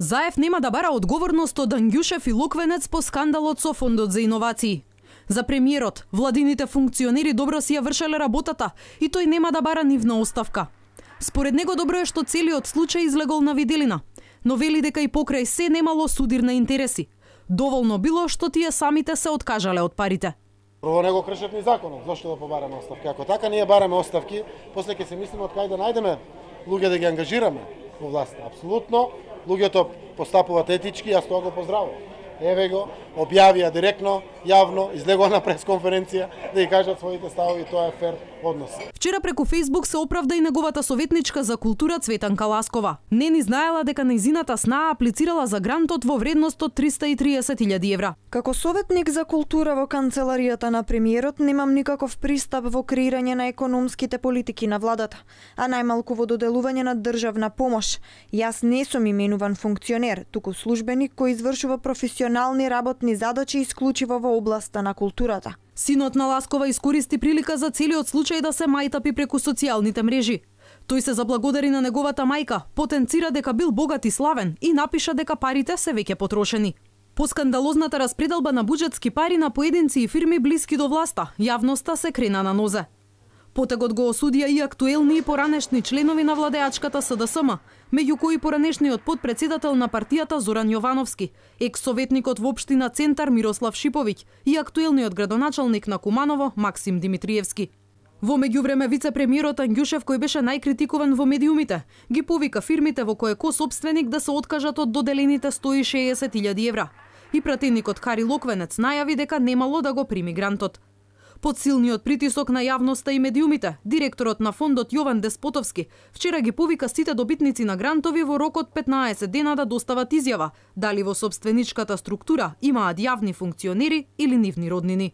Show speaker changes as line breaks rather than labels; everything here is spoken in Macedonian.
Заев нема да бара одговорност од Ангјушев и Локвенец по скандалот со Фондот за иновации. За премиерот, владините функционери добро си ја вршеле работата и тој нема да бара нивна оставка. Според него добро е што целиот случај излегол на виделина, но вели дека и покрај се немало судир на интереси. Доволно било што тие самите се откажале од парите.
Прво не го кршат ни законот, зошто да побараме оставки? Ако така ние бараме оставки, после ќе се мислиме од кај да најдеме луѓе да ги ангажираме во власта. Апсолутно, луѓето постапуваат етички, јас тоа го поздравувам. Еве го, објавија директно, јавно, излегува на пресконференција да ги кажат своите ставови, тоа е фер однос.
Вчера преку Facebook се оправда и неговата советничка за култура Цветанка Ласкова. Не ни знаела дека нејзината снаа аплицирала за грантот во вредност од 330.000 евра.
Како советник за култура во канцеларијата на премиерот немам никаков пристап во креирање на економските политики на владата, а најмалку во доделување на државна помош. Јас не сум именуван функционер, туку службеник кој извршува професионални работни задачи исклучиво во областа на културата.
Синот на Ласкова искористи прилика за целиот случај да се мајтапи преку социјалните мрежи. Тој се заблагодари на неговата мајка, потенцира дека бил богат и славен и напиша дека парите се веќе потрошени. По скандалозната распределба на буџетски пари на поединци и фирми блиски до власта, јавноста се крена на нозе. Потегот го осудија и актуелни и поранешни членови на владеачката СДСМ, меѓу кои поранешниот подпредседател на партијата Зоран Јовановски, екс-советникот во општина Центар Мирослав Шиповиќ и актуелниот градоначалник на Куманово Максим Димитриевски. Во меѓувреме вице-премиерот Ангјушев, кој беше најкритикуван во медиумите, ги повика фирмите во кои ко-сопственик да се откажат од доделените 160.000 евра. И пратеникот Хари Локвенец најави дека немало да го прими грантот. Под силниот притисок на јавноста и медиумите, директорот на фондот Јован Деспотовски вчера ги повика сите добитници на грантови во рок од 15 дена да достават изјава дали во сопстvenичката структура имаат јавни функционери или нивни роднини.